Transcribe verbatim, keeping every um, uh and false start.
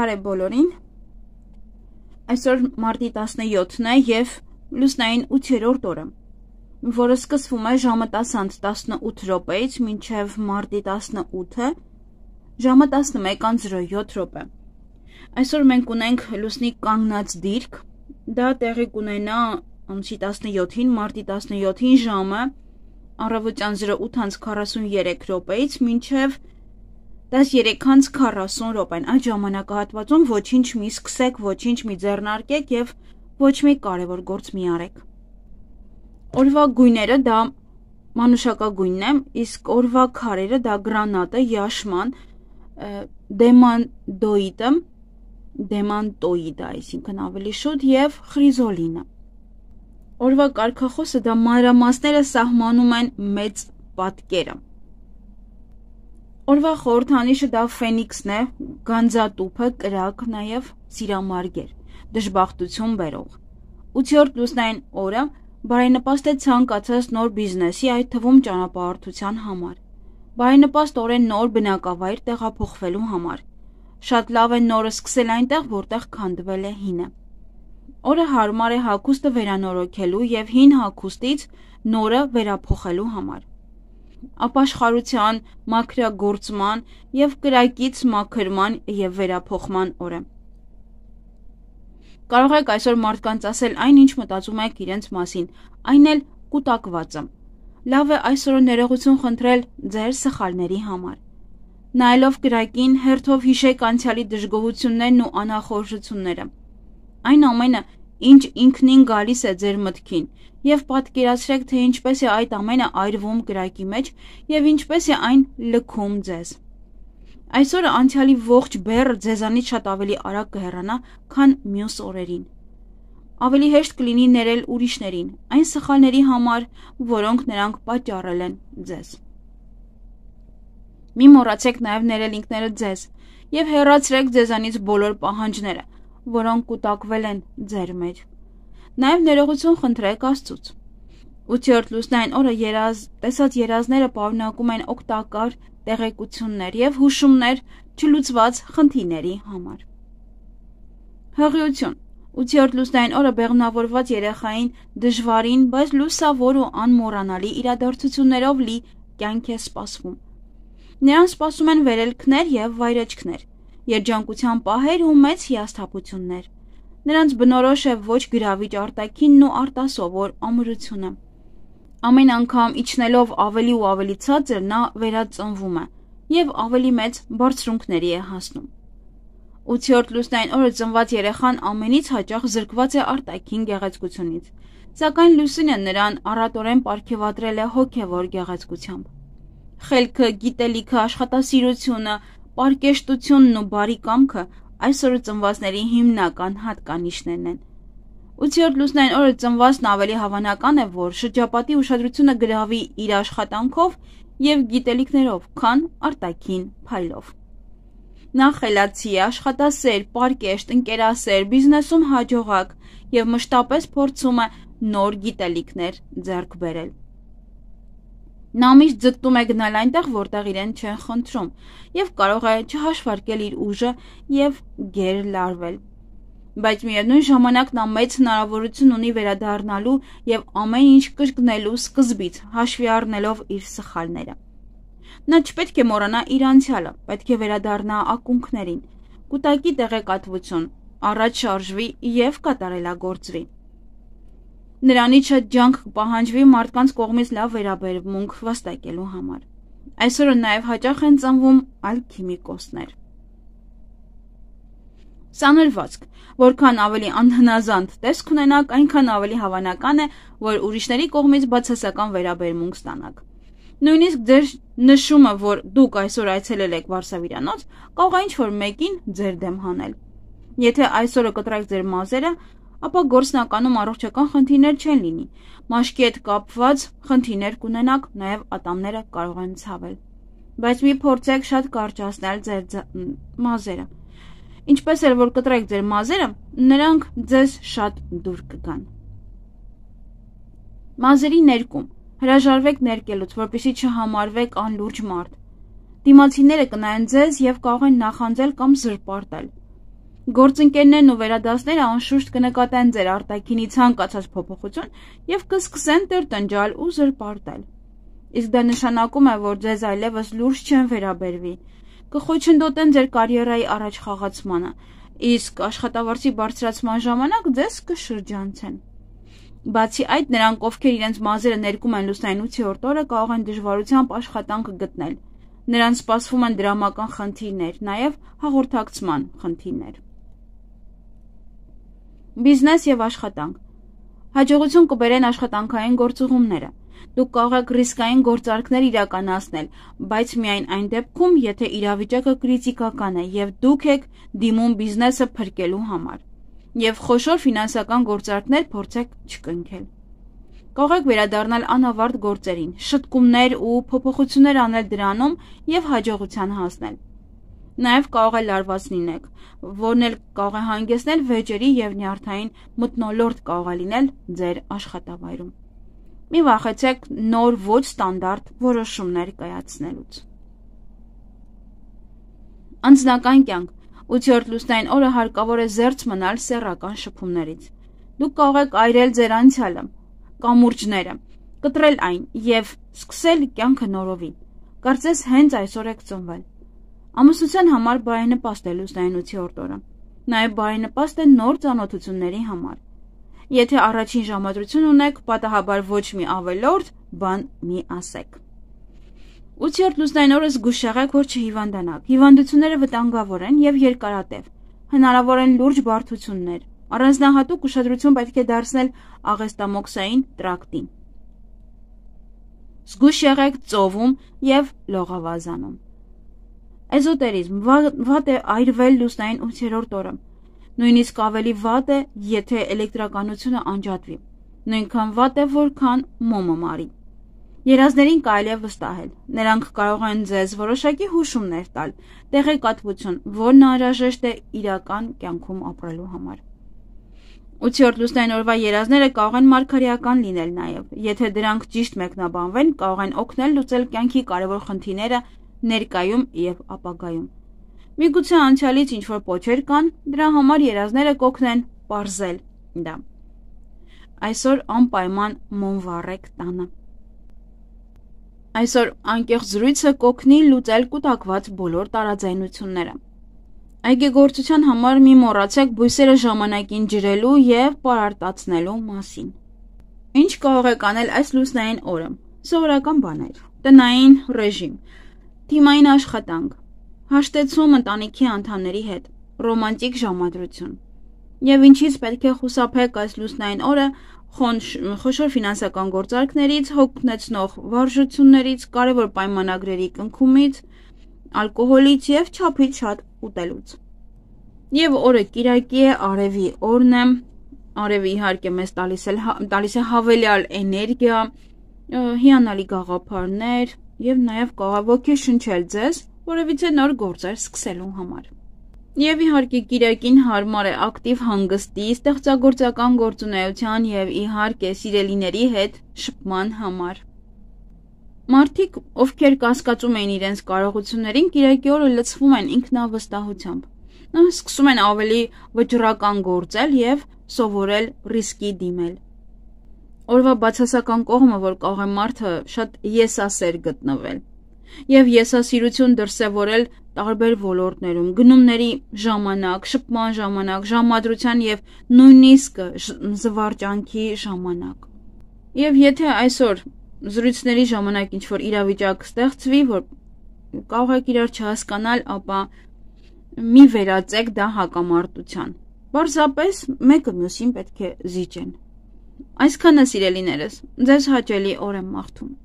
Բարև բոլորին, այսօր մարտի տասնյոթն է և լուսնային ութերորդ օրը, որը սկսվում է ժամը տասը տասնութ րոպեից մինչև մարտի տասնութը ժամը տասնմեկ զրո յոթ րոպե։ Այսօր մենք ունենք լուսնի կանգնած դիրք, դա տեղի կունենա ամսի տասնյոթին, մարտի տասնյոթին ժամը առավոտյան զրո ութ քառասունյերեք րոպեից մինչև տասներեք քառասուն րոպեն։ Այդ ժամանակահատվածում ոչինչ մի սկսեք, ոչինչ մի ձեռնարկեք և ոչ մի կարևոր գործ մի արեք։ Օրվա գույները դա մանուշակագույնն է, իսկ օրվա քարերը դա գրանատը, յաշման, դեմանդոիդը, դեմանտոիդը, այսինքն ավելի շուտ, և խրիզոլինը։ Օրվա կարգախոսը դա մանրամասները սահմանում են մեծ պատկերը։ Օրվա խորհրդանիշը դա ֆենիքսն է, գանձատուփը, կրակ, նաև սիրամարգեր, դժբախտություն բերող։ ութերորդ լուսնային օրը բարենպաստ է ցանկացած նոր բիզնեսի, այդ թվում ճանապարհորդության համար։ Բարենպաստ օր է նոր բնակավայր տեղափոխվելու համար։ Շատ լավ է նորը սկսել այնտեղ, որտեղ քանդվել է հինը։ Օրը հարմար է հագուստը վերանորոգելու և հին հագուստից նորը վերափոխելու համար։ Ապաշխարության, մաքրագործման և կրակից մաքրման և վերափոխման օր է։ Կարող եք այսօր մարդկանց ասել այն, ինչ մտածում եք իրենց մասին, այն էլ կուտակվածը։ Լավ է այսօր ներողություն խնդրել ձեր սխալների համար։ Նայելով կրակին, հերթով հիշեք անցյալի դժգոհություններն ու անախորժությունները։ Այն ամենը, ինչ ինքնին գալիս է ձեր մտքին, և պատկերացրեք, թե ինչպես է այդ ամենը այրվում կրակի մեջ և ինչպես է այն լքում ձեզ։ Այսօրը անցյալի ողջ բեռը ձեզանից շատ ավելի արագ կհեռանա, քան մյուս օրերին։ Ավելի հեշտ կլինի ներել ուրիշներին, այն սխալների համար, որոնք նրանք պատճառել են ձեզ։ Մի մոռացեք նաև ներել ինքներդ ձեզ և հեռացրեք ձեզանից բոլոր պահանջները, որոնք կուտակվել են ձեր մեջ։ Նաև ներողություն խնդրեք Աստծուց։ ութերորդ լուսնային օրը երազ, տեսած երազները պարունակում են օգտակար տեղեկություններ և հուշումներ չլուծված խնդիրների համար։ Հղիություն։ ութերորդ լուսնային օրը բեղմնավորված երեխային դժվարին, բայց լուսավոր ու անմոռանալի իրադարձություններով լի կյանք է սպասվում։ Նրան սպասում են վերելքներ և վայրեջքներ, երջանկության պահեր ու մեծ հիասթափություններ։ Նրանց բնորոշ է ոչ գրավիչ արտաքինն ու արտասովոր ամրությունը։ Ամեն անգամ իջնելով ավելի ու ավելի ցածր նա վերածնվում է և ավելի մեծ բարձրունքների է հասնում։ ութերորդ լուսնային օրը ծնված երեխան ամենից հաճախ զրկված է արտաքին գեղեցկությունից, սակայն լուսինը նրան առատորեն պարգևատրել է հոգևոր գեղեցկությամբ։ Խելքը, գիտելիքը, աշխատասիրությունը, պարկեշտությունն ու բարի կամքը այսօրը ծնվածների հիմնական հատկանիշներն են։ ութերորդ լուսնային օրը ծնվածն ավելի հավանական է, որ շրջապատի ուշադրությունը գրավի իր աշխատանքով և գիտելիքներով, քան արտաքին փայլով։ Նա խելացի է, աշխատասեր, պարկեշտ, ընկերասեր, բիզնեսում հաջողակ և մշտապես փորձում է նոր գիտելիքներ ձեռք բերել։ Նա միշտ ձգտում է գնալ այնտեղ, որտեղ իրեն չեն խնդրում, և կարող է չհաշվարկել իր ուժը և գերլարվել։ Բայց միևնույն ժամանակ նա մեծ հնարավորություն ունի վերադառնալու և ամեն ինչ կրկնելու սկզբից, հաշվի առնելով իր սխալները։ Նա չպետք է մոռանա իր անցյալը, պետք է վերադառնա ակունքներին, կուտակի տեղեկատվություն, առաջ շարժվի և կատարելագործվի։ Նրանից շատ ջանք կպահանջվի մարդկանց կողմից լավ վերաբերմունք վաստակելու համար։ Այսօրը նաև հաճախ են ծնվում ալքիմիկոսներ։ Սանրվածք։ Որքան ավելի անհնազանդ տեսք ունենաք, այնքան ավելի հավանական է, որ ուրիշների կողմից բացասական վերաբերմունք ստանաք։ Նույնիսկ ձեր նշումը, որ դուք այսօր այցելել եք վարսավիրանոց, կարող է ինչ-որ մեկին ձեր դեմ հանել։ Եթե այսօրը կտրեք ձեր մազերը, ապա գործնականում առողջական խնդիրներ չեն լինի։ Մաշկի հետ կապված խնդիրներ կունենաք, նաև ատամները կարող են ցավել։ Բայց մի փորձեք շատ կարճացնել ձեր մազերը։ Ինչպես էլ որ կտրեք ձեր մազերը, նրանք ձեզ շատ դուր կգան։ Մազերի ներկում։ Հրաժարվեք ներկելուց, որպեսզի չհամարվեք անլուրջ մարդ։ Դիմացիները կնայեն ձեզ և կարող են նախանձել կամ զրպարտել։ Գործընկերներն ու վերադասները անշուշտ կնկատեն ձեր արտաքինի ցանկացած փոփոխություն եւ կսկսեն տրտնջալ ու զրպարտել։ Իսկ դա նշանակում է, որ ձեզ այլևս լուրջ չեն վերաբերվի, կխոչընդոտեն ձեր կարիերայի առաջխաղացմանը, իսկ աշխատավարձի բարձրացման ժամանակ ձեզ կշրջանցեն։ Բացի այդ, նրանք, ովքեր իրենց մազերը ներկում են լուսնային ութերորդ օրը, կարող են դժվարությամբ աշխատանք գտնել։ Նրանց սպասվում են դրամական խնդիրներ, նաև հաղորդակցման խնդիրներ։ Բիզնես եւ աշխատանք։ Հաջողություն կբերեն աշխատանքային գործուղումները։ Դուք կարող եք ռիսկային գործարքներ իրականացնել, բայց միայն այն դեպքում, եթե իրավիճակը կրիտիկական է եւ դուք եք դիմում բիզնեսը փրկելու համար, եւ խոշոր ֆինանսական գործարքներ փորձեք չկնքել։ Կարող եք վերադառնալ անավարտ գործերին, շտկումներ ու փոփոխություններ անել դրանում եւ հաջողության հասնել։ Նաև կարող է լարված լինեք, որն էլ կարող է հանգեցնել վեճերի եւ նյարդային մթնոլորտ կարող է լինել ձեր աշխատավայրում։ Մի վախեցեք նոր ոչ ստանդարտ որոշումներ կայացնելուց։ Անձնական կյանք։ ութերորդ լուսնային օրը հարկավոր է զերծ մնալ սեռական շփումներից։ Դուք կարող եք այրել ձեր անցյալը, կամուրջները, կտրել այն եւ սկսել կյանքը նորովի։ Կարծես հենց այսօր եք ծնվել։ Ամուսնության համար բարենպաստ է լուսնային ութերորդ օրը։ Նաև բարենպաստ է նոր ծանոթությունների համար։ Եթե առաջին ժամադրություն ունեք, պատահաբար ոչ մի ավելորդ բան մի ասեք։ ութերորդ լուսնային օրը զգուշ եղեք, որ չհիվանդանաք։ Հիվանդությունները վտանգավոր են եւ երկարատև։ Հնարավոր են լուրջ բարդություններ։ Առանձնահատուկ ուշադրություն պետք է դարձնել աղեստամոքսային տրակտին։ Զգուշ եղեք ծովում եւ լողավազանում։ Էզոտերիզմ վատ է այրվել լուսնային ութերորդ օրը։ Նույնիսկ ավելի վատ է, եթե էլեկտրականությունը անջատվի։ Նույնքան վատ է, որքան մոմը մարի։ Երազներին կարելի է վստահել։ Նրանք կարող են ձեզ որոշակի հուշումներ տալ, տեղեկատվություն, որն անհրաժեշտ է իրական կյանքում ապրելու համար։ ութերորդ լուսնային օրվա երազները կարող են մարգարեական լինել նաև։ Եթե դրանք ճիշտ մեկնաբանվեն, կարող են օգնել լուծել կյանքի կարևոր խնդիրները ներկայում եւ ապագայում։ Միգուցե անցյալից ինչ-որ պոչեր կան, դրա համար երազները կօգնեն պարզել դա։ Այսօր անպայման մոմ վառեք տանը։ Այսօր անկեղծ զրույցը կօգնի լուծել կուտակված բոլոր տարաձայնությունները։ Այգեգործության համար մի մոռացեք բույսերը ժամանակին ջրելու եւ պարարտացնելու մասին։ Ինչ կարող եք անել այս լուսնային օրը։ Սովորական բաներ։ Տնային ռեժիմ, թիմային աշխատանք, հաշտեցում ընտանիքի անդամների հետ, ռոմանտիկ ժամադրություն։ Եվ ինչից պետք է խուսափեք այս լուսնային օրը խոշոր ֆինանսական գործարքներից, հոգնեցնող վարժություններից, կարևոր պայմանագրերի կնքումից, ալկոհոլից եւ չափից շատ ուտելուց։ Եվ օրը կիրակի է, արևի օրն է, արևը իհարկե մեզ տալիս է տալիս է հավելյալ էներգիա, հիանալի գաղափարներ եւ նաեւ կարող ոգեշնչել ձեզ որևիցե նոր գործեր սկսելու համար։ Եվ իհարկե կիրակին հարմար է ակտիվ հանգստի, ստեղծագործական գործունեության եւ իհարկե սիրելիների հետ շփման համար։ Մարդիկ, ովքեր կասկածում էին իրենց կարողություններին, կիրակի օրը լցվում են ինքնավստահությամբ։ Սկսում են ավելի վճռական գործել եւ սովորել ռիսկի դիմել։ Օրվա բացասական կողմը, որ կարող է մարդը շատ եսասեր գտնվել եւ եսասիրություն դրսեւորել տարբեր ոլորտներում, գնումների ժամանակ, շփման ժամանակ, ժամադրության եւ նույնիսկ զվարճանքի ժամանակ։ Եվ եթե այսօր զրույցների ժամանակ ինչ-որ իրավիճակ ստեղծվի, որ կարող եք իրար չհասկանալ, ապա մի վերածեք դա հակամարտության։ Պարզապես մեկը մյուսին պետք է զիջեն։ Այսքանը սիրելիներս, ձեզ հաճելի օր եմ մաղթում։